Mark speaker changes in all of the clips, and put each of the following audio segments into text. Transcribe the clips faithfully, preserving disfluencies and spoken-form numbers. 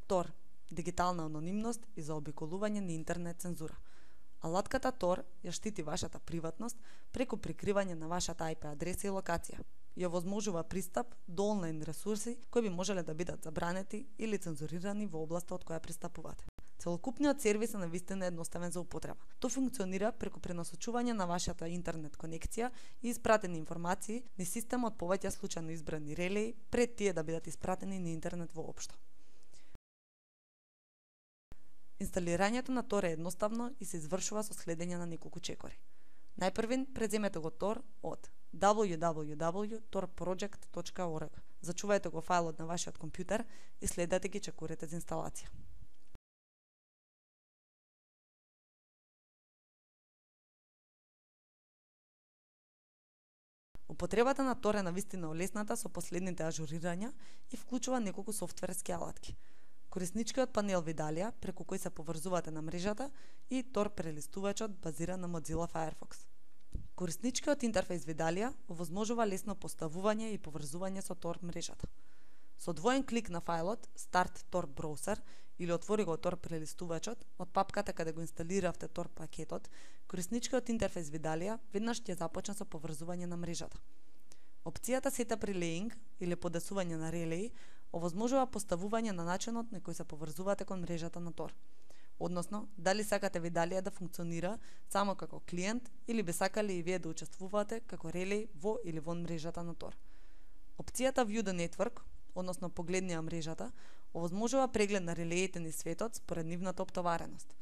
Speaker 1: Тор – дигитална анонимност и заобиколување на интернет цензура. Алатката Тор ја штити вашата приватност преку прикривање на вашата ај пи адреса и локација. Ја возможува пристап до онлайн ресурси кои би можеле да бидат забранети или цензурирани во областа од која пристапувате. Целокупниот сервис е навистина едноставен за употреба. Тој функционира преку пренасочување на вашата интернет конекција и испратени информации низ системот повеќе случајно избрани релеи пред тие да бидат испратени на интернет воопшто. Инсталирањето на Тор е едноставно и се извршува со следење на неколку чекори. Најпрвин преземете го Тор од дабл ју дабл ју дабл ју точка тор проџект точка орг. Зачувајте го фајлот на вашиот компјутер и следете ги чекорите за инсталација. Употребата на Тор е навистина олесната со последните ажурирања и вклучува неколку софтверски алатки. Корисничкиот панел видалија, преку кој се поврзувате на мрежата, и Тор прелистувачот базиран на Mozilla Firefox. Корисничкиот интерфејс видалија овозможува лесно поставување и поврзување со Тор мрежата. Со двоен клик на фајлот Start Tor Browser или отвори го Тор прелистувачот од папката каде го инсталиравте Тор пакетот, корисничкиот интерфејс видалија веднаш ќе започне со поврзување на мрежата. Опцијата Setup Relaying или подесување на релеи овозможува поставување на начинот на кој се поврзувате кон мрежата на Тор. Односно, дали сакате видалија да функционира само како клиент или би сакале и вие да учествувате како релеј во или вон мрежата на Тор. Опцијата View the Network, односно погледни ја мрежата, овозможува преглед на релеите низ светот според нивната оптовареност.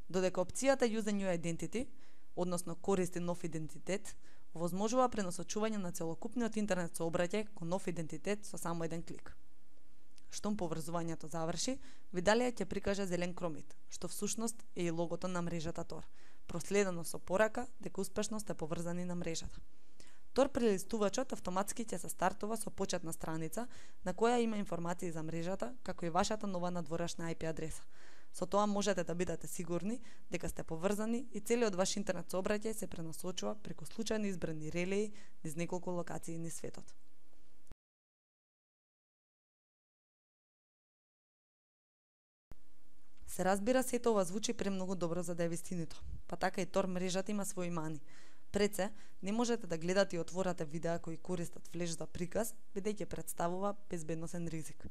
Speaker 1: Додека опцијата Use a New Identity, односно користи нов идентитет, овозможува пренасочување на целокупниот интернет сообраќај кон нов идентитет со само еден клик. Штом поврзувањето заврши, видалија ќе прикаже зелен кромит, што всушност е и логото на мрежата Тор, проследено со порака дека успешно сте поврзани на мрежата. Тор прелистувачот автоматски ќе се стартува со почетна страница на која има информации за мрежата, како и вашата нова надворешна ај пи адреса. Со тоа можете да бидете сигурни дека сте поврзани и целиот ваш интернет сообраќај се пренасочува преку случајно избрани релеи низ неколку локации низ светот. Се разбира, сето ова звучи премногу добро за да е вистинито, па така и Тор мрежата има свои мани. Пред се, не можете да гледате и отворате видеа кои користат флеш за приказ, бидејќи представува безбедносен ризик.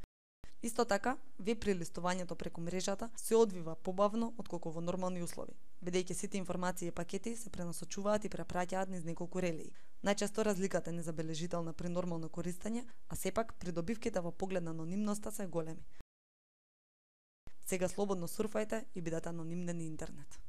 Speaker 1: Исто така, веб прелистувањето преку мрежата се одвива побавно отколку во нормални услови, бидејќи сите информации и пакети се пренасочуваат и препраќаат низ неколку релеи. Најчесто разликата е незабележителна при нормално користење, а сепак придобивките во поглед на анонимноста се големи. Сега слободно сурфајте и бидете анонимни на интернет.